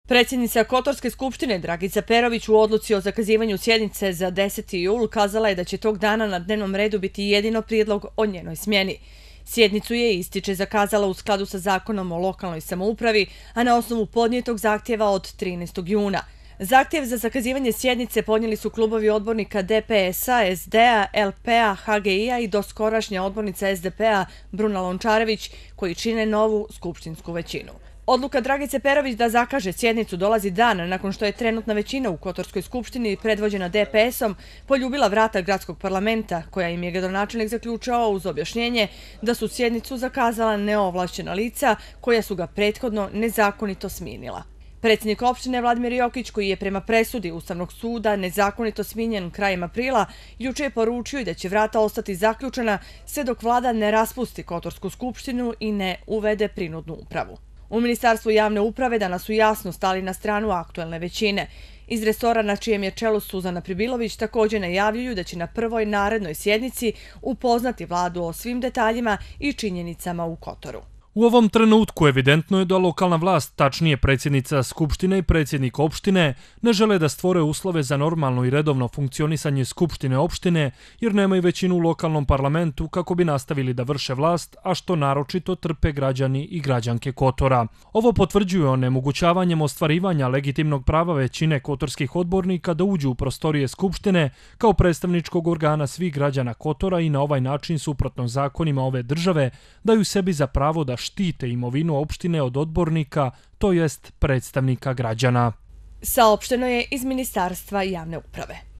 Predsjednica Kotorske skupštine Dragica Perović u odluci o zakazivanju sjednice za 10. jul kazala je da će tog dana na dnevnom redu biti jedino prijedlog o njenoj smjeni. Sjednicu je, ističe, zakazala u skladu sa zakonom o lokalnoj samoupravi, a na osnovu podnijetog zahtjeva od 13. juna. Zahtjev za zakazivanje sjednice podnijeli su klubovi odbornika DPS-a, SD-a, LP-a, HGI-a i doskorašnja odbornica SDP-a Bruna Lončarević, koji čine novu skupštinsku većinu. Odluka Dragice Perović da zakaže sjednicu dolazi dan nakon što je trenutna većina u Kotorskoj skupštini, predvođena DPS-om, poljubila vrata gradskog parlamenta, koja im je gradonačelnik zaključao uz objašnjenje da su sjednicu zakazala neovlašćena lica koja su ga prethodno nezakonito smijenila. Predsjednik opštine Vladimir Jokić, koji je prema presudi Ustavnog suda nezakonito smijenjen krajem aprila, juče je poručio i da će vrata ostati zaključena sve dok vlada ne raspusti Kotorsku skupštinu i ne uvede prinudnu upravu. U Ministarstvu javne uprave danas su jasno stali na stranu aktuelne većine. Iz resora na čijem je čelu Suzana Pribilović također najavljuju da će na prvoj narednoj sjednici upoznati vladu o svim detaljima i činjenicama u Kotoru. U ovom trenutku evidentno je da lokalna vlast, tačnije predsjednica Skupštine i predsjednik opštine, ne žele da stvore uslove za normalno i redovno funkcionisanje Skupštine opštine jer nemaju većinu u lokalnom parlamentu kako bi nastavili da vrše vlast, a što naročito trpe građani i građanke Kotora. Ovo potvrđuje onemogućavanjem ostvarivanja legitimnog prava većine kotorskih odbornika da uđu u prostorije Skupštine kao predstavničkog organa svih građana Kotora i na ovaj način, suprotno zakonima ove države, daju sebi za pravo da štite imovinu opštine od odbornika, to jest predstavnika građana. Saopšteno je iz Ministarstva javne uprave.